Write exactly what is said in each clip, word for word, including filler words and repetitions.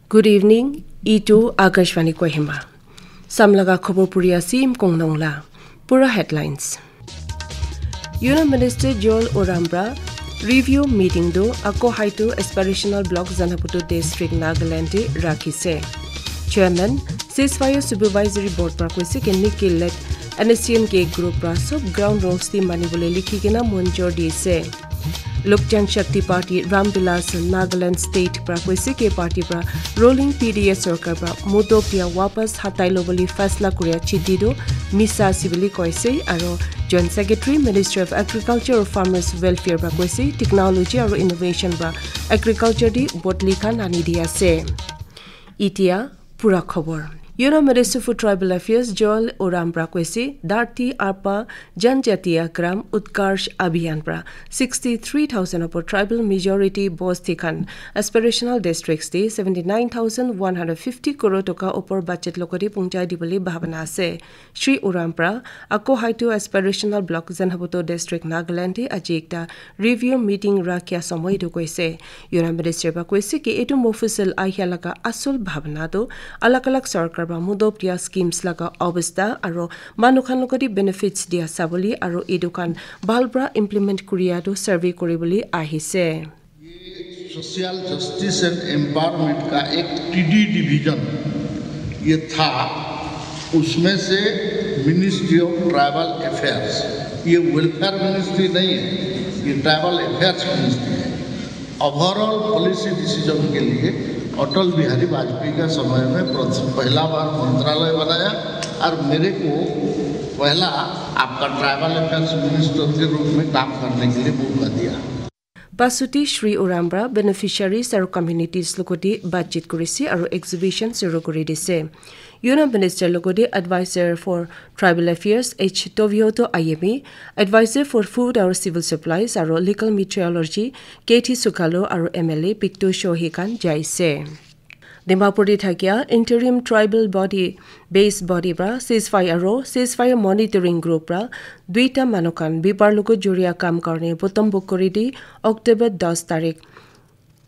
Good evening, itu Akashvani Kohima. Samlaga khobor puri asim kongnong la. Pura headlines. Union Minister Joel Oram pra review meeting do ako haitu aspirational block Zanaputo district Nagaland te rakhise. Chairman, ceasefire supervisory board pra koise ke Nikki led N S C N K group pra sob ground rules ti mani bole likhi kena monjor dise. Lok Jan Shakti Party Ram Vilas Nagaland State pra koise ke party pra ruling P D A sarkar pra mudo pia wapas hatai lo bole faisla kuria chiti do misa ase bole koise aro Joint Secretary Ministry of Agriculture or Farmers Welfare pra koise technology aro innovation pra agriculture di bodli khan ani di ase. Itia pura khobor. Union Minister for Tribal Affairs Joel Oram pra koise Dharti Arpa Janjatiya Gram Utkarsh Abhiyan pra sixty three thousand opor tribal majority bosti khan aspirational districts te seventy nine thousand one hundred fifty crore toka opor budget logori pungchai dibole bhabana ase. Shri Oram pra ako haitu aspirational block Zanaputo district Nagaland te aji ekta review meeting rakya somoy tu koise. Union Minister pra koise ki etu Mofussil ahia laga asul bhabna tu alag alag sarkar pra mudop dia schemes laga obostha aro manu khan logori benefits dia sabole aro etu khan bhal pra implement kuria tu survey kuribole ahise. सोशल जस्टिस एंड एम्पावरमेंट का एक टीडी डिवीजन ये था, उसमें से मिनिस्ट्री ऑफ ट्राइबल अफेयर्स, ये वेलफेयर मिनिस्ट्री नहीं है, ये ट्राइबल अफेयर्स मिनिस्ट्री है। ओवरऑल पॉलिसी डिसीजन के लिए अटल बिहारी वाजपेयी का समय में प्रथ- पहला बार मंत्रालय बनाया और मेरे को पहला आपका ट्राइबल अफेयर्स मिनिस्टर के रूप में काम करने के लिए मौका दिया। Pasuti Shri Oram pra beneficiaries aro communities logoti batchit kurise aro exhibition suru kuri dise. Union Minister logoti Advisor for Tribal Affairs H Tobioto Ayemi, Advisor for Food aro Civil Supplies aro Legal Meteorology K T Sukalo aro M L A Picto Shohi khan jaise. Dimapur te thakia interim tribal body base body pra ceasefire aro ceasefire monitoring group pra duita manu khan bipar logo juria kam karne botom bokori di October das tarik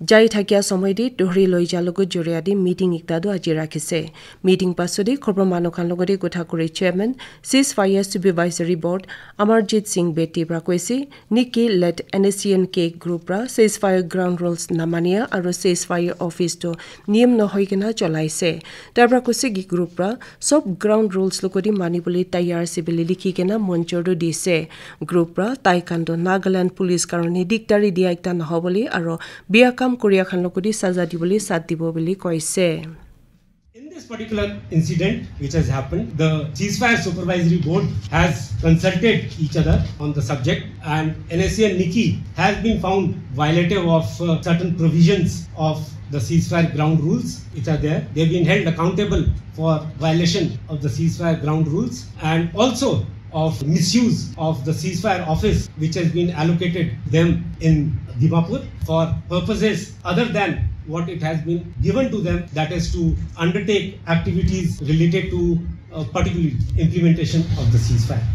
jai thakia somoy di dohri loi ja logo juria di meeting ekta do aji rakhise. Meeting pasodi khobor manu khan logori kotha kuri chairman ceasefire supervisory board Amarjit Singh Bedi pra koise Nikki led N S C N K group pra ceasefire ground rules namania aro ceasefire office to niyam nohoi kena cholaise. Tar pra koise ki group pra sob ground rules logoti mani bole tayar ase bole likhi kena monjor do dise. Group pra tai khan to Nagaland police karone diktari dia ekta nohobole aro bia kam koria khan logoti saza dibole sat dibo bole koise. In this particular incident which has happened, the ceasefire supervisory board has consulted each other on the subject, and N S C N Nikki has been found violative of uh, certain provisions of the ceasefire ground rules which are there. They've been held accountable for violation of the ceasefire ground rules and also of misuse of the ceasefire office which has been allocated them in Dimapur for purposes other than what it has been given to them, that is to undertake activities related to uh, particularly implementation of the ceasefire.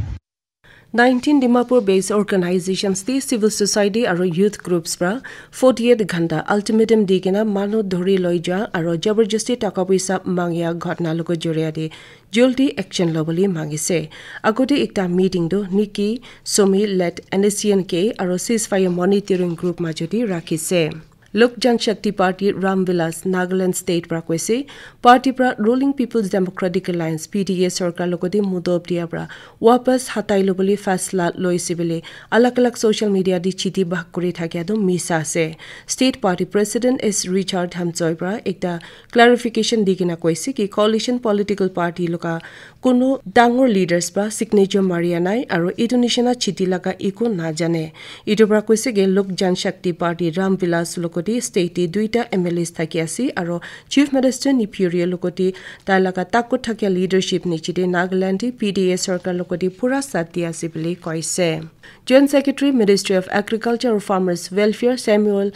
Nineteen Dimapur based organizations te civil society aro youth groups pra forty eight ghanta ultimatum di kena manu dhori loi ja aro jabardasti taka poisa mangya ghotna logo joria de jaldi action lobole mangise. Agodi ekta meeting do Nikki, Somi led N S C N K aro ceasefire monitoring group majodi rakhise. Lok Jan Shakti Party Ram Vilas Nagaland State pra koise, party pra Ruling People's Democratic Alliance P D A sarkar logodi mudop dia pra wapas hatai lobole faisla loise bole alag alag social media di chiti bhag kuri thakia do misa ase. State Party President S Richard Hamchoi pra ekta clarification di kena koise ki coalition political party loga Kono dangor leaders pra signature maria nai aro etu nishina chiti laga eku najane. Etu pra koise ke Lok Jan Shakti Party Ram Vilas logoti state te duita M L As thaki ase aro Chief Minister Neiphiu Rio logoti tai laga takut thakia leadership niche te Nagaland te P D A sarkar logoti pura saath di ase bole koise. Joint Secretary Ministry of Agriculture and Farmers Welfare Samuel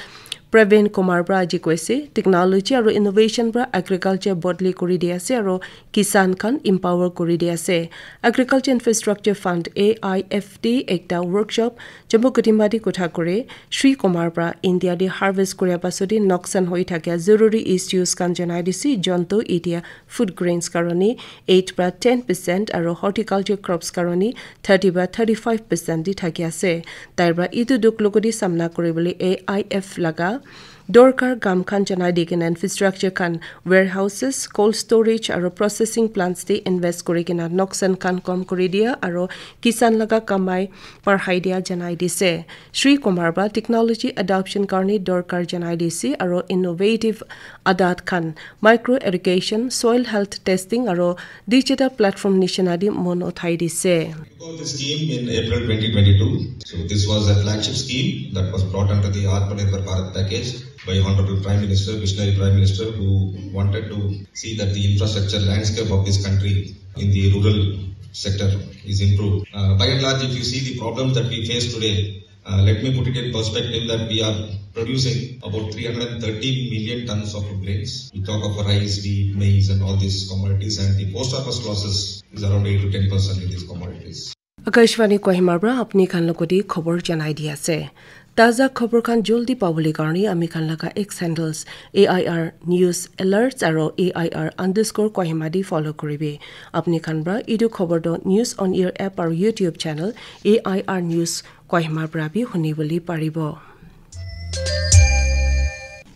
Praveen Kumar pra aji koise, technology aro innovation pra agriculture bodli kuri di ase aro kisan khan empower kuri di ase. Agriculture Infrastructure Fund, A I F T, ekta workshop Jammu Kohima te kotha kure, Shri Kumar pra India te harvest kuria pasot te noksan hoi thakia zaruri issues khan janai dise, jonto itia food grains karone eight pra ten percent aro horticulture crops karone thirty pra thirty-five percent di thaki ase. Tai pra itu dukh logodi samna kuribole A I F laga dorkar kam khan janai di kena infrastructure khan, warehouses, cold storage aro processing plants te invest kuri kena noksan khan kom kuri dia aro kisan laga kamai parhai dia janai dise. Shri Kumar pra technology adoption karne dorkar janai dise aro innovative adat khan, micro irrigation, soil health testing aro digital platform nishina di mon uthai dise. Got the scheme in April twenty twenty-two. So this was a flagship scheme that was brought under the Atmanirbhar Bharat package by Honorable Prime Minister, visionary Prime Minister, who wanted to see that the infrastructure landscape of this country in the rural sector is improved. Uh, by and large, if you see the problems that we face today, uh, let me put it in perspective that we are producing about three hundred thirteen million tons of food grains. We talk of rice, wheat, maize, and all these commodities, and the post-harvest losses is around eight to ten percent in these commodities. Akashvani Kohima pra apni khan logodi khobor janai di ase. Taza khobor khan joldi pabole karne ami khan laga X handles A I R News Alerts aro A I R underscore Kohima di follow kuribi. Apni khan pra itu khobor to News on Air app aro YouTube channel A I R News Kohima pra bi huni bole paribo.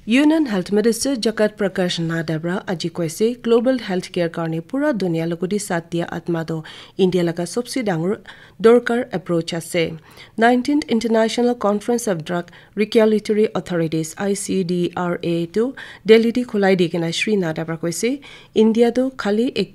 Union Health Minister Jagat Prakash Nadda pra aji koise, global healthcare karne pura dunia logodi saath dia atma to India laga sobse dangor dorkar approach ase. Nineteenth International Conference of Drug Regulatory Authorities, I C D R A, tu Delhi te khulai di kena Shri Nadda pra koise, India tu khali ek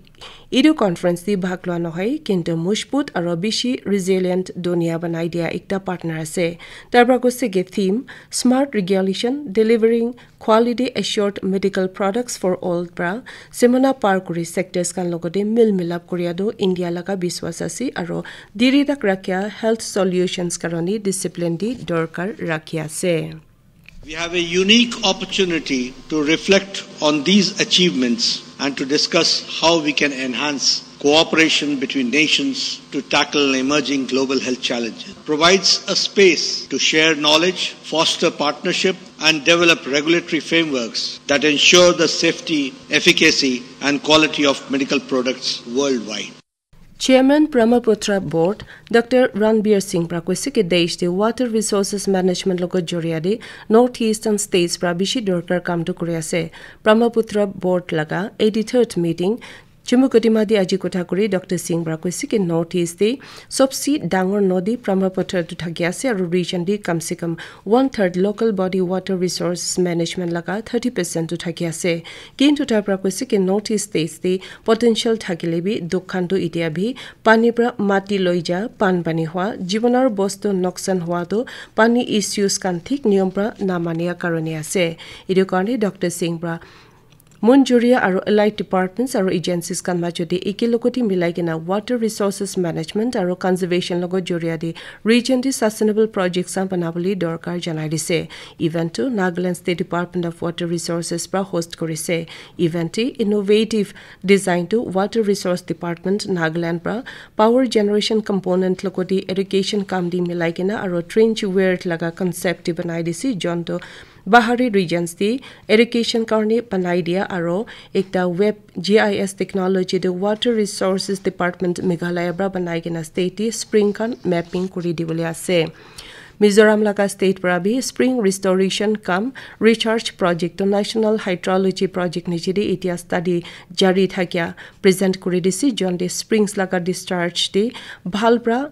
Etu conference te bhag lua nohoi, kintu mojbut aro bishi resilient dunia banai dia ekta partner ase. Tar pra koise ki theme, Smart Regulation, Delivering Quality Assured Medical Products for All pra semana par kuri sectors khan logote mil milap kuria tu India laga biswas ase aro diri tak rakhia health solutions karone discipline di dorkar rakhi ase. We have a unique opportunity to reflect on these achievements and to discuss how we can enhance cooperation between nations to tackle emerging global health challenges. It provides a space to share knowledge, foster partnership, and develop regulatory frameworks that ensure the safety, efficacy, and quality of medical products worldwide. Chairman Brahmaputra Board, Doctor Ranbir Singh pra koise ki desh te water resources management logo joria de North Eastern states pra bishi dorkar kam tu kuri ase. Brahmaputra Board laga eighty-third meeting Chumukedima de aji kotha kuri Doctor Singh pra koise ki North East te sobse dangor nodi Brahmaputra tu thaki ase aru region de kam se kam one third local body water resources management laga thirty percent tu thaki ase. Kintu tai pra koise ki North East states te potential thakile bi dukh khan tu itia bi pani pra mati loi ja, pan pani hua, jibanor bostu noksan hua tu pani issues khan thik niyom pra namania karone ase. Etu karne Doctor Singh pra Munjuria aru allied departments aru agencies khan majot te eke logoti milai kena water resources management aru conservation logo joria de region te sustainable projects khan banabole dorkar janai dise. Event tu Nagaland State Department of Water Resources pra host kurise. Event te innovative design tu Water Resource Department Nagaland pra power generation component logoti irrigation kam di milai kena aru trench weir laga concept di banai dise, jonto Bahari regions te irrigation karne banai dia aro ekta web G I S technology de Water Resources Department Meghalaya pra banai kena state te spring khan mapping kuri dibole ase. Mizoram laga state pra bi spring restoration cum recharge project to National Hydrology Project niche de itia study jari thakia present kuri dise, jonte springs laga discharge de bhal pra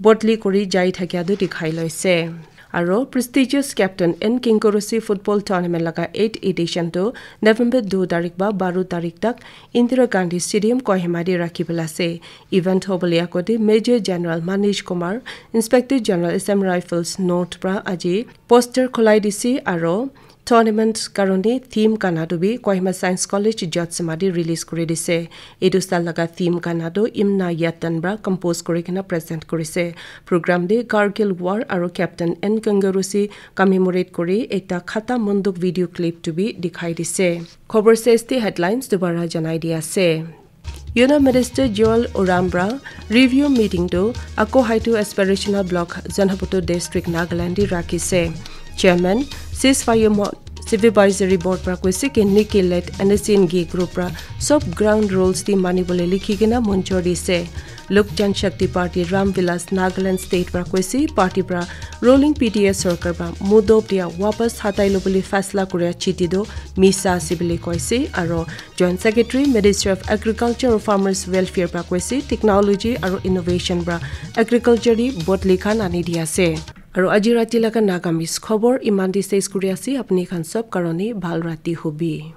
bodli kuri jai thakia tu dikhai loise. Aro prestigious Captain N Kinkurusi Football Tournament laga eighth edition tu November dui tarik ba baro tarik tak Indira Gandhi Stadium Kohima de rakhi bole ase. Event hobole akote Major General Manish Kumar, Inspector General S M Rifles North pra aji poster khulai dise aro Tournament karone theme gana tu bi Kohima Science College Jotsima te release kuri dise. Etu sal laga theme gana tu Imna Yatan pra compose kuri kena present kurise. Program te Kargil War aru Captain N Kangarusi commemorate kuri ekta khata monduk video clip tu bi dikhai dise. Khobor sesde headlines dubara janai di ase. Union Minister Joel Oram pra review meeting tu Ako Haitu Aspirational Block Zunheboto District Nagaland te rakhi se. Chairman Ceasefire Mo Supervisory Board pra koise ki Nikki led N S N G group pra sob ground rules di mani bole likhi kena monjor di se. Lok Janshakti Party Ram Vilas Nagaland State pra koise party pra ruling P D A sarkar pra mudob dia wapas hatai lo bole faisla kuria chiti do misa ase bole koise aro Joint Secretary, Ministry of Agriculture and Farmers Welfare pra koise technology aru innovation pra agriculture te bodli khan ani di ase. Aru aji rati laga Nagamese khobor iman te ses kuri ase, apni khan sob karone bhal rati hobi.